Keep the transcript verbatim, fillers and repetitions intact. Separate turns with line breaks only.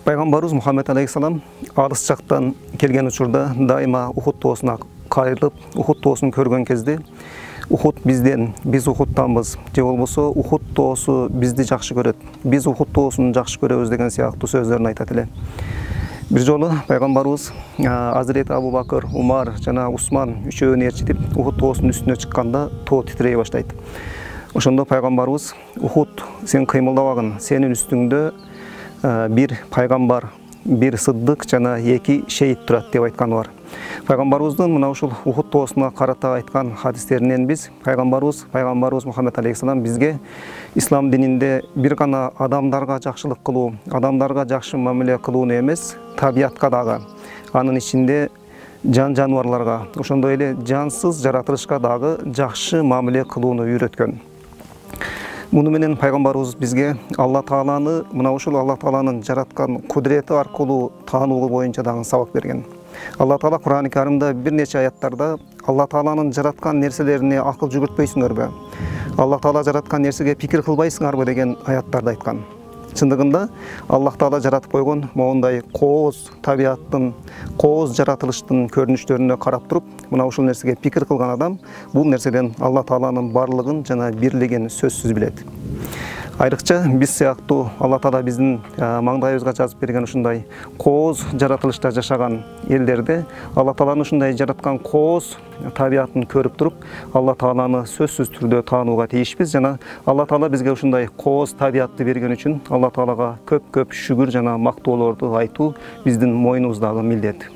Пайгамбарыбыз Мухаммед алейхиссалам алыс жактан келген учурда дайыма Ухуд тоосуна кайрылып, Ухуд тоосун көргөн кезде Ухуд бизден, биз Ухудтанбыз, же болбосо Ухуд тоосу бизди жакшы көрөт, биз Ухуд тоосун жакшы көрөбүз деген сыяктуу сөздөрүн айтат эле. Бир жолу пайгамбарыбыз Азирет Абу Бакыр, Умар жана Усман үчөөнү ээрчитип Ухуд тоосунун үстүнө чыкканда тоо титирей баштайт. Ошондо пайгамбарыбыз: "Ухуд, сен кыймылдабагын, сенин үстүңдө бир пайгамбар, бир сыддык жана эки шейит турат" деп айтканы бар. Пайгамбарыбыздын мына ушул Ухуд тоосуна карата айткан хадистеринен биз пайгамбарыбыз пайгамбарыбыз Мухаммед алейхиссалам бизге ислам дининде бир гана адамдарга жакшылык кылуу, адамдарга жакшы мамиле кылууну эмес, табиятка дагы, анын ичинде жан жаныбарларга, ошондой эле жансыз жаратылышка дагы жакшы мамиле кылууну үйрөткөн. Муну менен пайгамбарыбыз бизге Алла Тааланы, мына ушул Алла Тааланын жараткан кудурети аркылуу таануу боюнча дагы сабак берген. Алла Таала Кур'ан-ы Каримде бир нече аяттарда Алла Тааланын жараткан нерселерине акыл жүгүртпөйсүңөрбү? Алла Таала жараткан нерсеге пикир кылбайсыңарбы деген аяттарды айткан. Чындыгында Аллах Таала жаратып койгон моундай кооз табияттын, кооз жаратылыштын көрүнүштөрүнө карап туруп, мына ушул нерсеге пикир кылган адам бул нерседен Алла Тааланын барлыгын жана бирлигин сөзсүз билет. Айрыкча биз сыяктуу Алла Таала биздин маңдайыбызга жазып берген ушундай кооз жаратылышта жашаган элдерде Алла Тааланын ушундай жараткан кооз табиятын көрүп туруп, Алла Тааланы сөзсүз түрдө таанууга тийишпиз жана Алла Таала бизге ушундай кооз табиятты берген үчүн Алла Таалага көп-көп шүгүр жана мактоолорду айтуу биздин мойнубуздагы милдет.